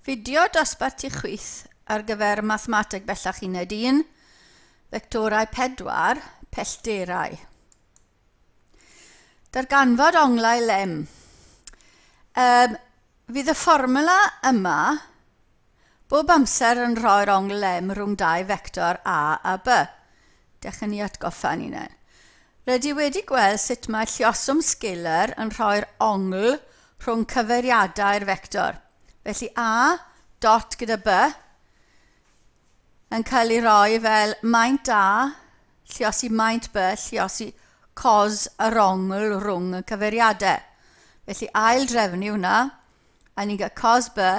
Fideo dosbarth i chwith ar gyfer mathemateg bellach uned 1, fectorau 4, pellterau. Darganfod onglau lem. Fydd y fformwla yma bob amser yn rhoi'r ongl lem rhwng dau fector A a B. Dechrau ni atgoffa ni hunain. Rydw i wedi gweld sut mae lluoswm scalar yn rhoi'r ongl rhwng cyfeiriadau'r fector. Felly A dot gyda B yn cael ei roi fel maint A, lluosi maint B, lluosi cos yr ongl rhwng y cyfeiriadau. Felly ail drefnu hwnna, a ni'n cael cos B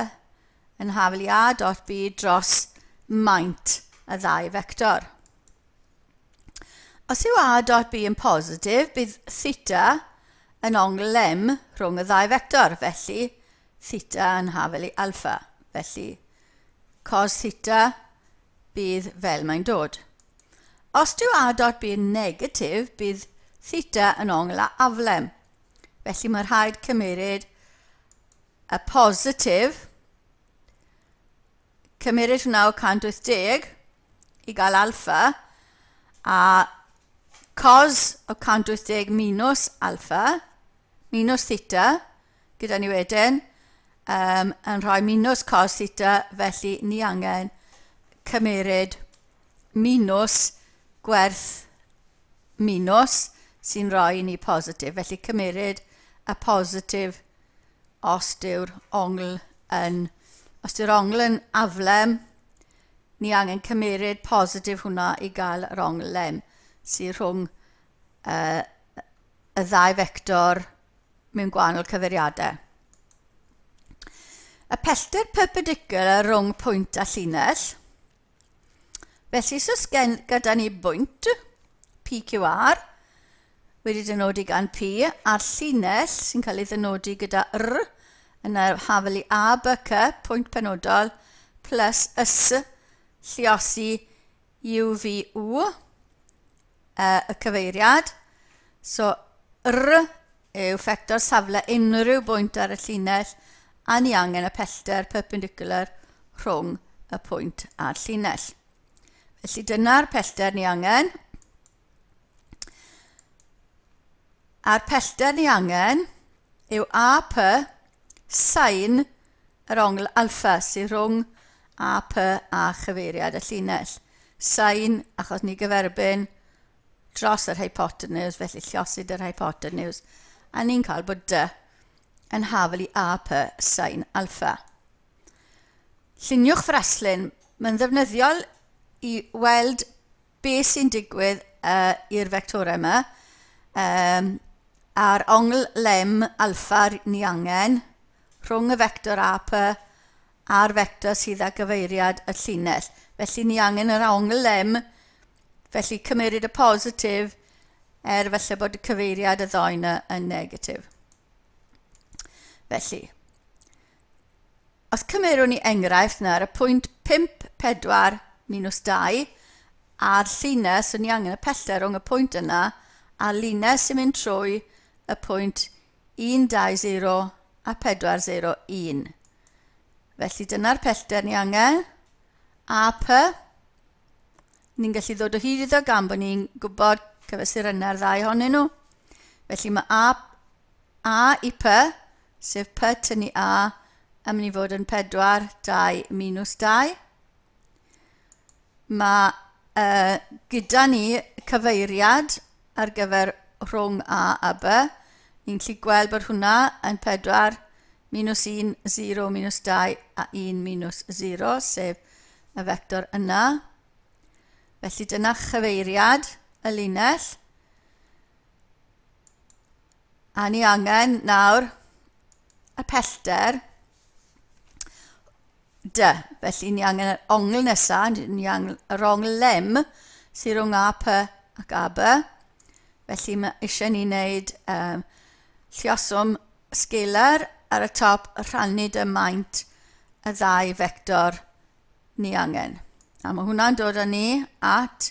yn hafel i A dot B dros maint y ddau fector. Os yw A dot B yn positif, bydd theta yn ongl M rhwng y ddau fector, felly theta yn hafel i alfa. Felly, cos theta bydd fel mae'n dod. Os dyw A dot B yn negatif, bydd theta yn ongl a aflem. Felly mae rhaid cymeryd y positif, cymeryd hwnna o 180 i gael alfa, a cos o 180 minus alfa, minus theta, gyda ni wedyn, yn rhoi minus cos theta, felly ni angen cymeryd minus gwerth minus sy'n rhoi ni positif. Felly cymeryd y positif os dyw'r ongl yn, os dyw'r ongl yn aflem, ni angen cymeryd positif hwnna i gael yr ongl M sydd rhwng y ddau fector mewn gwahanol cyfeiriadau. Y pellter perpendicular rhwng pwynt a llinell. Felly, os oes gyda ni bwynt PQR wedi dynodi gan P a'r llinell sy'n cael ei ddynodi gyda R yn yr hafel i A, B, C, pwynt penodol, plus S, lluosi U, V, U, y cyfeiriad. So, R yw ffector safle unrhyw bwynt ar y llinell a ni angen y pellter perpendicular rhwng y pwynt a'r llinell. Felly dyna'r pellter ni angen. A'r pellter ni angen yw AP sin yr ongl alfa sydd rhwng AP a chyfeiriad y llinell. Sin, achos ni gyferbyn dros yr hypotenuse, felly llosid yr hypotenuse, a ni'n cael bod D yn hafel i AP sin alfa. Lluniwch fraslun. Mae'n ddefnyddiol i weld beth sy'n digwydd i'r fectorau yma. A'r ongl lem alfa ni angen rhwng y fector AP a'r fector sydd â gyfeiriad y llinell. Felly ni angen yr ongl lem, felly cymeryd y positif er felly bod y cyfeiriad y ddau yna yn negatif. Felly, os cymerwn ni enghraifft nawr, y pwynt 5, 4 minus 2 a'r llinell, so ni angen y pellter rhwng y pwynt yna a'r linell sy'n mynd trwy y pwynt 1, 2, 0 a 4, 0, 1. Felly dyna'r pellter ni angen. AP, ni'n gallu ddod o hyd iddo gan bod ni'n gwybod cyfesurynnau'r ddau ohonyn nhw. Felly mae A i P, sef P tynnu A, yn mynd i fod yn 4, 2, minus 2. Mae gyda ni cyfeiriad ar gyfer rhwng A a B. Ni'n gallu gweld bod hwnna yn 4, minus 1, 0, minus 2 a 1, minus 0, sef y fector yna. Felly dyna chyfeiriad y linell. A ni angen nawr y pellter D. Felly ni angen yr ongl nesaf, ni angen yr ongl lem sydd rhwng AP ac AB. Felly mae eisiau ni wneud lluoswm scalar ar y top rhannu dy maint y ddau fector ni angen. A mae hwnna'n dod â ni at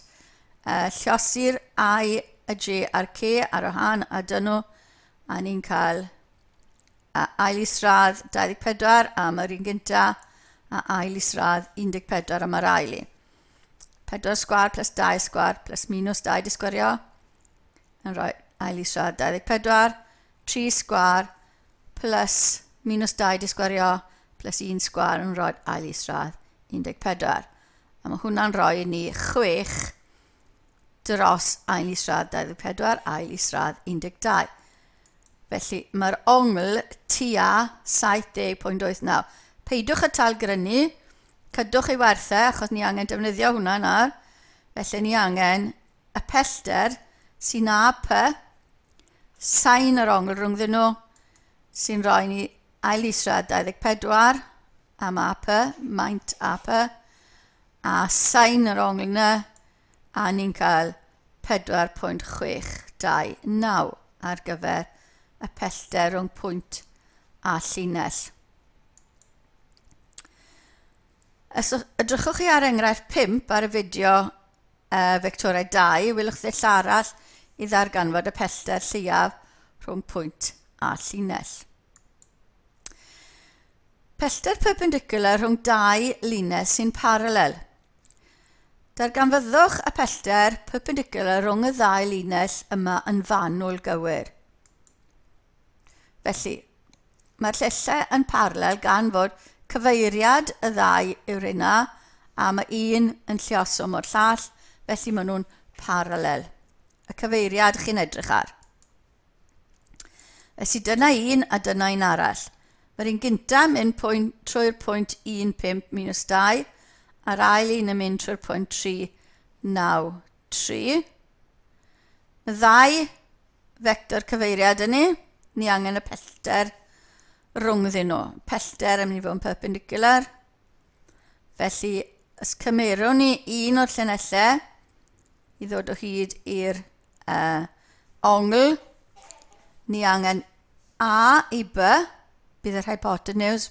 lluosi'r I, y J a'r K ar y han a dyn nhw, a ni'n cael ail isradd 24 a mae'r un gynta a ail isradd 14 am yr ail un. 4 sgwâr plus 2 sgwâr plus minus 2 di sgwario yn rhoi ail isradd 24, 3 sgwâr plus minus 2 di sgwario plus 1 sgwâr yn rhoi ail isradd 14. A mae hwnna'n rhoi i ni 6 dros ail isradd 24, ail isradd 12. Felly mae'r ongl tua 70.89. Peidiwch y talgrynu, cadwch ei werthau, achos ni angen defnyddio hwnna nawr. Felly ni angen y pellter sy'n AP, sain yr ongl rhwngddyn nhw, sy'n rhoi ni ail isradd 24 am AP, maint AP, a sain yr ongl yna, a ni'n cael 4.629 ar gyfer y pellter rhwng pwynt a llinell. Os edrychwch chi ar enghraifft 5 ar y fideo fectorau 2, wylwch ddull arall i ddarganfod y pellter lleiaf rhwng pwynt a llinell. Pellter perpendicular rhwng dau linell sy'n paralel. Darganfyddwch y pellter perpendicular rhwng y ddau linell yma yn fanwl gywir. Felly, mae'r llinellau yn paralel gan fod cyfeiriad y ddau yw'r hynna, a mae un yn lluoswm o'r llall, felly maen nhw'n paralel. Y cyfeiriad chi'n edrych ar. Felly dyna un a dyna un arall. Mae'r un gyntaf yn mynd trwy'r pwynt 1, 5 minus 2, a'r ail un yn mynd trwy'r pwynt 3, 9, 3. Y ddau fector cyfeiriad yn ni angen y pellter rhwngddyn nhw. Pellter yn mynd i fod yn perpendicular. Felly, os cymerwn ni un o'r llinellau i ddod o hyd i'r ongl, ni angen A i B, bydd yr hypotenuse,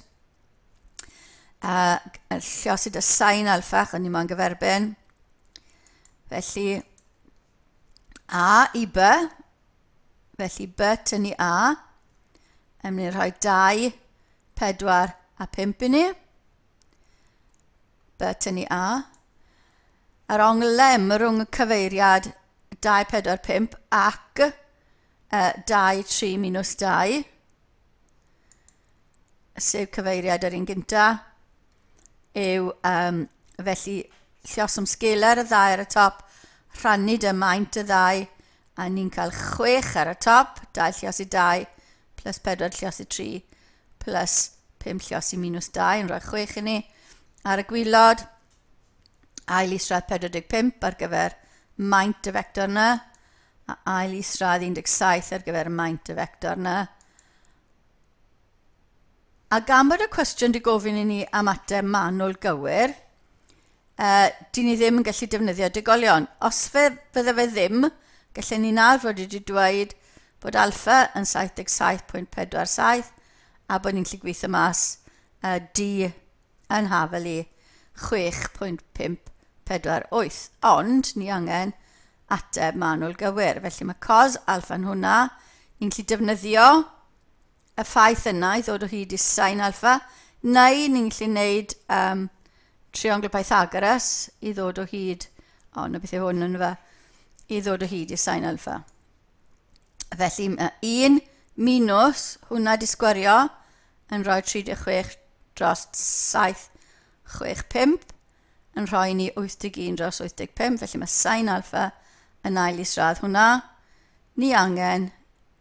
lliosi dy sain alfa, achos ni moyn gyferbyn. Felly, A i B, felly B tynnu A, yn mynd i rhoi 2, 4 a 5 i ni. B tynnu A. Yr ongl M rhwng y cyfeiriad 2, 4, 5 ac 2, 3 minus 2, sef cyfeiriad yr un gynta, yw felly lluoswm sgeler y ddau ar y top, rhannu dy maint y ddau, a ni'n cael 6 ar y top, 2 lluosi 2 plus 4 lluosi 3 plus 5 lluosi minus 2 yn rhoi 6 i ni. Ar y gwaelod, ail isradd 45 ar gyfer maint y fector yna, a ail isradd 17 ar gyfer maint y fector yna. A gan bod y cwestiwn wedi gofyn i ni am ateb manwl gywir, dyn ni ddim yn gallu defnyddio degolion. Os fydde fe ddim, gallen ni nawr fod wedi dweud bod alfa yn 77.47 a bod ni'n gallu gweithio mas D yn hafel i 6.548. Ond ni angen ateb manwl gywir. Felly mae cos alfa yn hwnna. Ni'n gallu defnyddio y ffaith yna i ddod o hyd i sin alfa, neu ni'n gallu gwneud triongl Pythagoras i ddod o hyd, o, na beth yw hwn yn fe, i ddod o hyd i sin alfa. Felly mae 1 minus hwnna di sgwario yn rhoi 36 dros 7, 6, 5, yn rhoi ni 81 dros 85, felly mae sin alfa yn ail isradd hwnna. Ni angen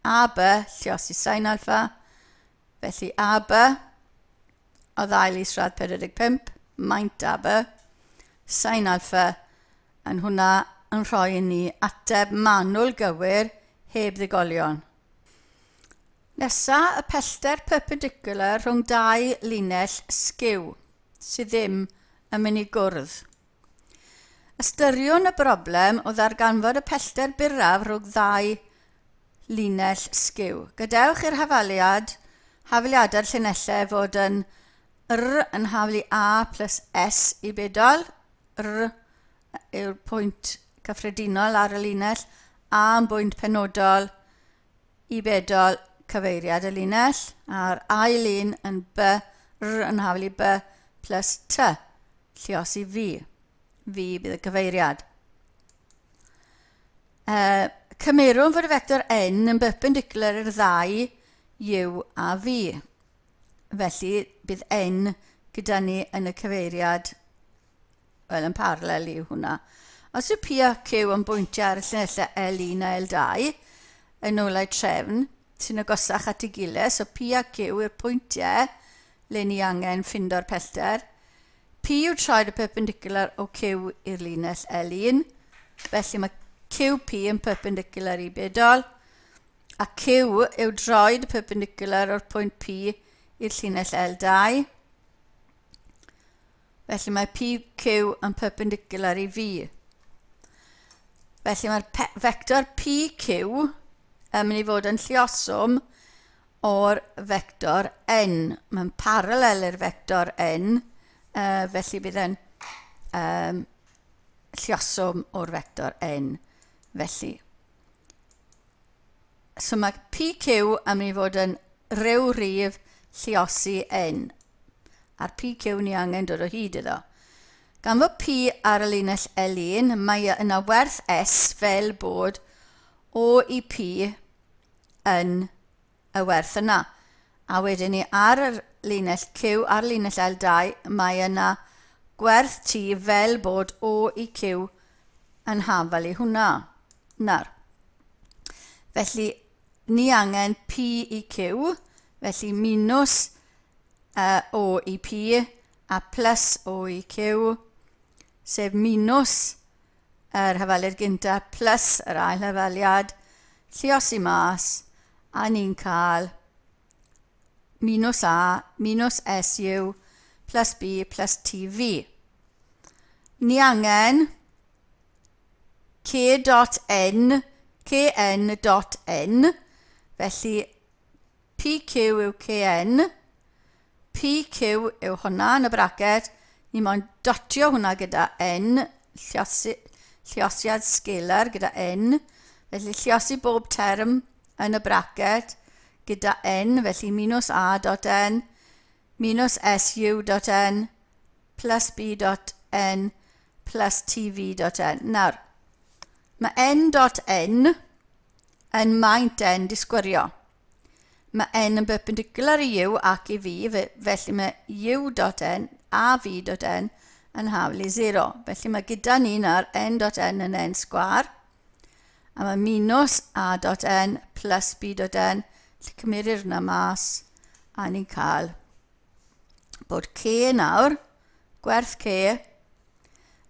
AB lluosi sin alfa, felly AB oedd ail isradd 45, maint AB, sin alfa yn hwnna yn rhoi i ni ateb manwl gywir heb ddigolion. Nesa, y pellter perpendicular rhwng dau linell sgiw sydd ddim yn mynd i gwrdd. Ystyriwn y broblem o ddarganfod y pellter byrraf rhwng ddau linell sgiw. Gadewch i'r hafaliadau'r llinellau fod yn R yn haflu A plus S i bedol, R yw'r pwynt cyffredinol ar y linell, A yn bwynt penodol i bedol cyfeiriad y linell, a'r ail un yn B, R yn haflu B plus T, lliosi V. V bydd y cyfeiriad. Cymerwn fod y fector N yn perpendicular i'r ddau U a V. Felly bydd N gyda ni yn y cyfeiriad, wel, yn paralel i hwnna. Os yw P a Q yn bwyntio ar y llinellau L1 a L2, yn ôl eu trefn, sy'n agosach at ei gilydd, so P a Q yw'r pwyntiau le ni angen ffindo'r pellter. P yw troed y perpendicular o Q i'r linell L1, felly mae QP yn perpendicular i bedol, a Q yw droed y perpendicular o'r pwynt P i'r llinell L2. Felly mae PQ yn perpendicular i V. Felly mae'r vector PQ yn mynd i fod yn lluoswm o'r vector N. Mae'n paralel i'r vector N, felly bydd yn lluoswm o'r vector N. Felly, so mae PQ yn mynd i fod yn rhyw rif lluosi N. A'r PQ ni angen dod o hyd iddo. Gan fod P ar y linell L1, mae yna werth S fel bod O i P yn y werth yna. A wedyn ni ar y linell Q, ar linell L2, mae yna gwerth T fel bod O i Q yn hafal i hwnna. Nawr, felly ni angen P i Q, felly minus O i P a plus O i Q, sef minus yr hafaliad gyntaf plus yr ail hafaliad, lluosi mas, a ni'n cael minus A minus SU plus B plus TV. Ni angen K dot N, KN dot N, felly PQ yw KN, PQ yw hwnna yn y braced, ni moyn dotio hwnna gyda N, lluosiad scalar gyda N, felly lluosi bob term yn y braced gyda N, felly minus A dot N, minus SU dot N, plus B dot N, plus TV dot N. Nawr, mae N dot N yn maint N disgwyrio. Mae N yn perpendicular i U ac i V, felly mae U dot N a V dot N yn hafal i 0. Felly mae gyda ni nawr N dot N yn N sgwar, a mae minus A dot N plus B dot N, lle cymerir hwnna mas, a ni'n cael bod K nawr, gwerth K,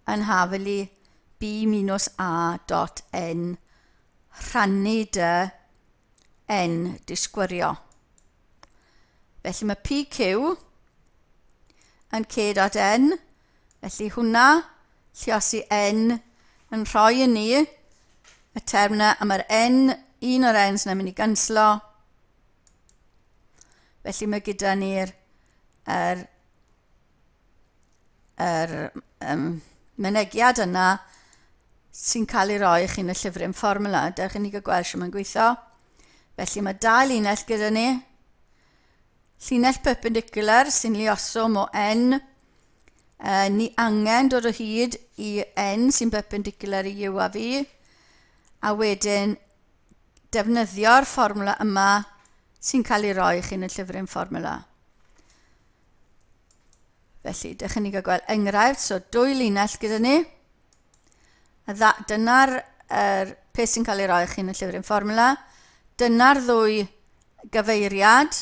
yn hafal i B minus A dot N rhannu dy N disgwyrio. Felly mae PQ yn K dot N, felly hwnna, lluosi N, yn rhoi i ni y term yna, a mae'r N, un o'r N's yna'n mynd i ganslo. Felly mae gyda ni'r mynegiad yna sy'n cael ei roi i chi yn y llyfryn fformwla. Dewch i ni gael gweld sut mae'n gweithio. Felly mae dau linell gyda ni. Llinell perpendicular sy'n luoswm o N. Ni angen dod o hyd i N sy'n perpendicular i U a V. A wedyn defnyddio'r fformwla yma sy'n cael ei roi i chi yn y llyfryn fformwla. Felly, dewch i ni gael gweld enghraifft. So, dwy linell gyda ni. Dyna'r peth sy'n cael ei roi i chi yn y llyfryn fformwla. Dyna'r ddwy gyfeiriad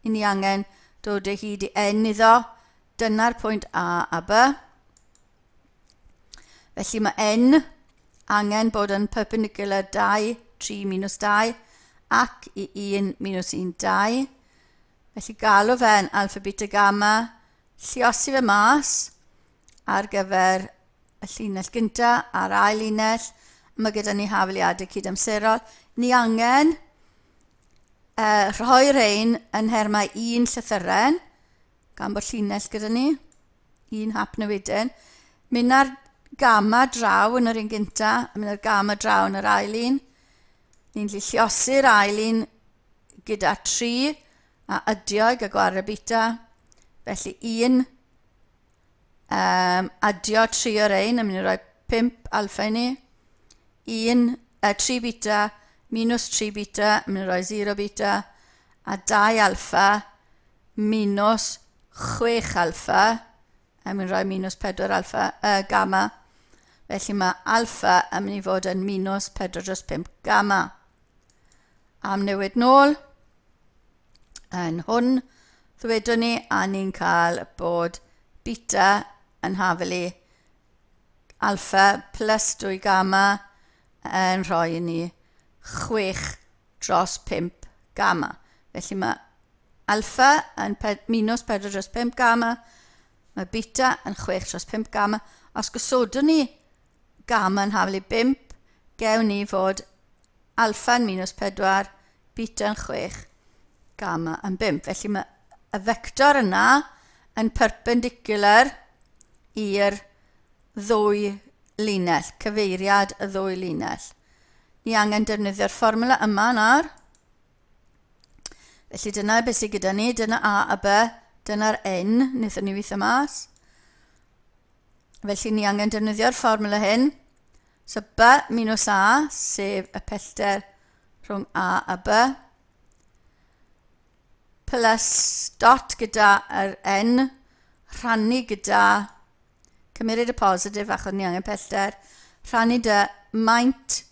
i ni angen dod o hyd i N iddo. Dyna'r pwynt A a B. Felly mae N angen bod yn perpendicular 2, 3 minus 2 ac i 1 minus 1, 2. Felly galw fe'n alpha, beta, gamma, lluosi fe mas ar gyfer y llinell gyntaf a'r ail linell. Mae gyda ni hafaliadau cydamserol. Ni angen rhoi rhain yn nhermau un llythyren, gan bod llinell gyda ni, un hap newidyn. Mynd ar gamma draw yn yr un gyntaf, a mynd ar gamma draw yn yr ail un. Ni'n lluosi'r ail un gyda 3 a ydio i gael gwared beta. Felly 1 Adio 3 o'r ein yn mynd i roi 5 alfa i ni. 1, 3 beta minus 3 beta yn mynd i roi 0 beta. A 2 alfa minus 6 alfa yn mynd i roi minus 4 alfa, gamma. Felly mae alfa yn mynd i fod yn minus 4 dros 5 gamma. Am newid nôl yn hwn, ddwedwn ni, a ni'n cael bod beta yn hafelu alfa plus 2 gamma yn rhoi i ni 6 dros 5 gamma. Felly mae alfa yn minus 4 dros 5 gamma, mae beta yn 6 dros 5 gamma. Os gosodwn ni gamma yn hafelu 5, gewn ni fod alfa yn minus 4, beta yn 6, gamma yn 5. Felly mae y fector yna yn perpendicular i'r ddwy linell, cyfeiriad y ddwy linell. Ni angen defnyddio'r fformula yma nawr. Felly dyna beth sydd gyda ni, dyna A a B, dyna'r N, wnaethon ni weithio mas. Felly ni angen defnyddio'r fformula hyn. So B minus A, sef y pellter rhwng A a B, plus dot gyda yr N, rhannu gyda, cymeryd y positif achos ni angen pellter, rhannu dy maint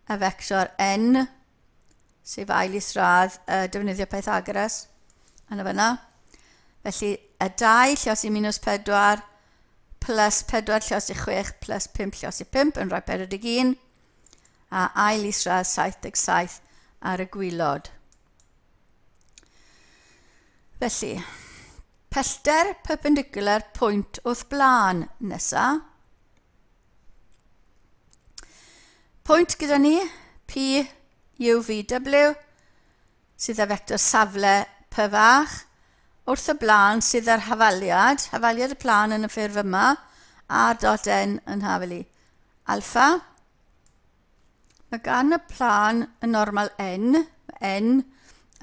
y fector N, sef ail isradd defnyddio Pythagoras, yna fyna. Felly y 2 lliosi minus 4 plus 4 lliosi 6 plus 5 lliosi 5 yn rhoi 41 a ail isradd 77 ar y gwylod. Felly, pellter perpendicular pwynt wrth blaen nesa. Pwynt gyda ni, P, U, V, W, sydd â fector safle P fach. Wrth y blaen sydd â'r hafaliad, hafaliad y plân yn y ffurf yma, R dot N yn hafelu alfa. Mae gan y plân y normal N, N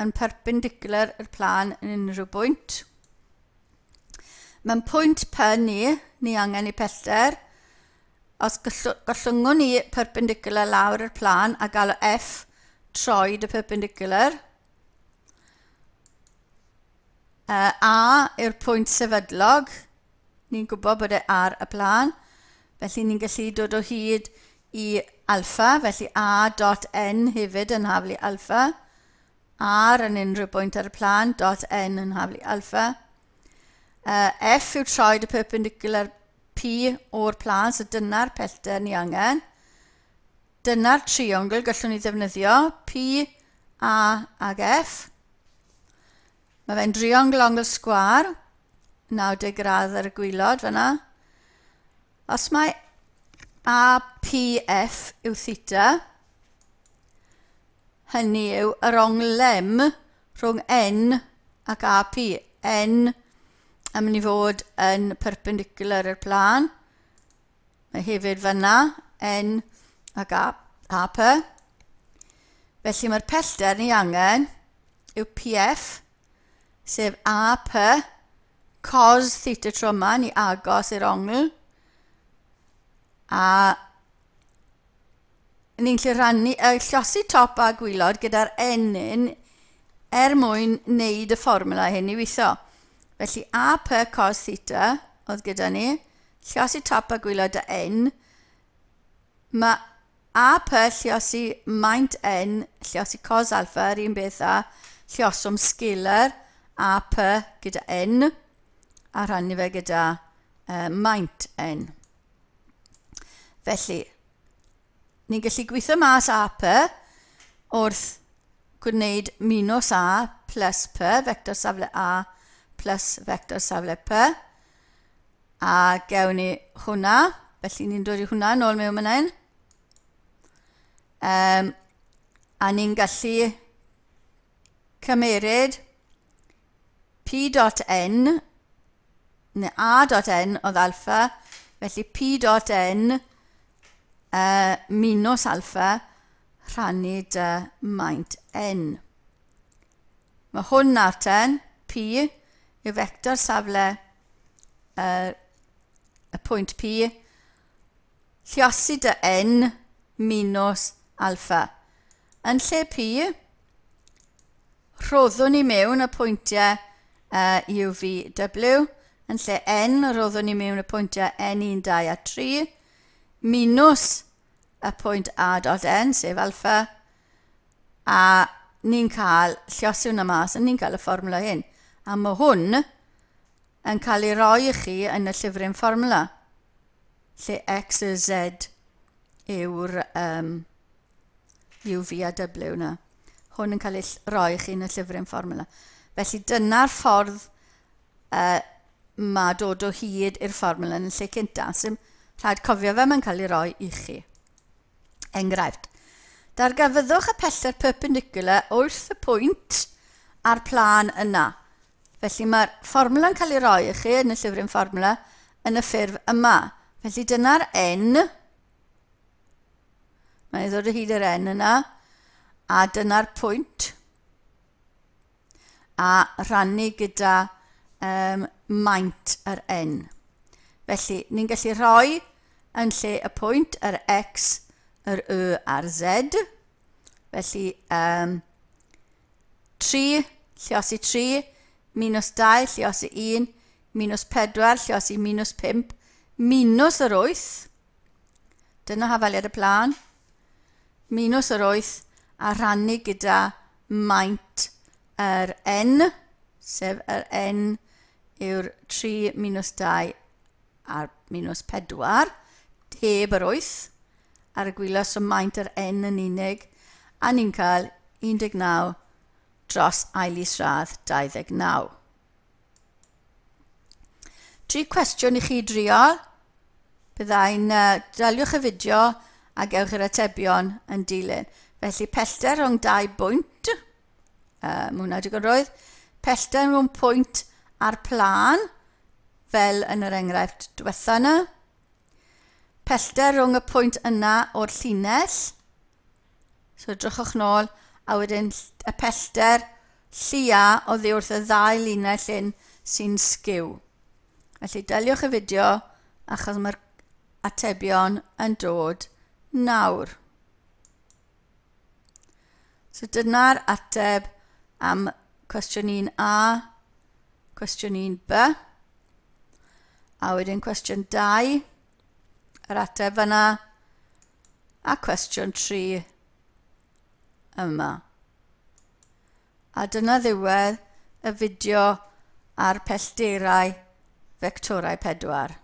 yn perpendicular i'r plân yn unrhyw bwynt. Mae'n pwynt P ni angen ei pellter. Os gollyngon ni perpendicular lawr i'r plân a gael o F troed y perpendicular. A yw'r pwynt sefydlog. Ni'n gwybod bod e ar y plân. Felly ni'n gallu dod o hyd i alfa. Felly A dot N hefyd yn haflu alfa. R yn unrhyw bwynt ar y plân, dot N yn haflu alfa. F yw troed y perpendicular P o'r plân, so dyna'r pellter ni angen. Dyna'r triongl gallwn ni ddefnyddio, P, A ag F. Mae fe'n driongl ongl sgwâr, 90 gradd ar y gwylod fyna. Os mae APF yw theta, hynny yw yr ongl M rhwng N ac AP. N yn mynd i fod yn perpendicular i'r plân. Mae hefyd fyna, N ac AP. Felly mae'r pellter ni angen yw PF, sef AP cos theta tro yma, ni agos i'r ongl. A ni'n gallu rhannu, llosi top a gwylod gyda'r N er mwyn wneud y fformula hyn i weithio. Felly AP cos theta oedd gyda ni, llosi top a gwylod y N. Mae AP lliosi maint N, lliosi cos alfa, yr un beth â llioswm scalar AP gyda N, a rhannu fe gyda maint N. Felly, ni'n gallu gweithio mas AP wrth gwneud minus A plus P, vector safle A plus vector safle P, a gewn ni hwnna, felly ni'n dod i hwnna nôl mewn fan hyn. A ni'n gallu cymeryd P dot N, neu A dot N oedd alfa, felly P dot N minus alfa rhannu dy maint N. Mae hwn nawr ten, P yw vector safle pwynt P, lliosi dy N minus alfa. Yn lle P, rhoddwn ni mewn y pwyntiau U, V, W. Yn lle N, rhoddwn ni mewn y pwyntiau N1, 2 a 3, minus y pwynt A dot N, sef alfa, a ni'n cael lliosi hwnna mas, a ni'n cael y fformwla hyn. A mae hwn yn cael ei roi i chi yn y llyfryn fformwla, lle X y Z yw'r U, V a W yna. Hwn yn cael ei roi i chi yn y llyfryn fformwla. Felly dyna'r ffordd mae dod o hyd i'r fformwla yn y lle cyntaf. Sy'n rhaid cofio fe, mae'n cael ei roi i chi. Enghraifft. Darganfyddwch y pellter perpendicular wrth y pwynt a'r plân yna. Felly mae'r fformwla'n cael ei roi i chi yn y llyfryn fformwla yn y ffurf yma. Felly dyna'r N. Mae'n ddod o hyd i'r N yna. A dyna'r pwynt. A rhannu gyda maint yr N. Felly ni'n gallu rhoi yn lle y pwynt yr X, yr Y a'r Z. Felly 3, lliosi 3, minus 2, lliosi 1, minus 4, lliosi minus 5, minus yr 8. Dyna hafaliad y plân. Minus yr 8 a rhannu gyda maint yr N, sef yr N yw'r 3 minus 2 a'r minus 4, heb yr 8, ar y gwaelod, so maint yr N yn unig, a ni'n cael 19 dros ail isradd 29. 3 cwestiwn i chi drio. Byddai'n daliwch y fideo a gewch yr atebion yn dilyn. Felly pellter rhwng 2 bwynt, mae hwnna digon roedd, pellter rhwng pwynt a'r plân, fel yn yr enghraifft diwetha yna. Pellter rhwng y pwynt yna o'r llinell, so drychwch nôl, a wedyn y pellter llia oddi wrth y ddau linell hyn sy'n sgiw. Felly daliwch y fideo achos mae'r atebion yn dod nawr. So dyna'r ateb am cwestiwn 1A, cwestiwn 1B, a wedyn cwestiwn 2, yr ateb yna, a cwestiwn 3 yma. A dyna ddiwedd y fideo ar pellterau fectorau 4.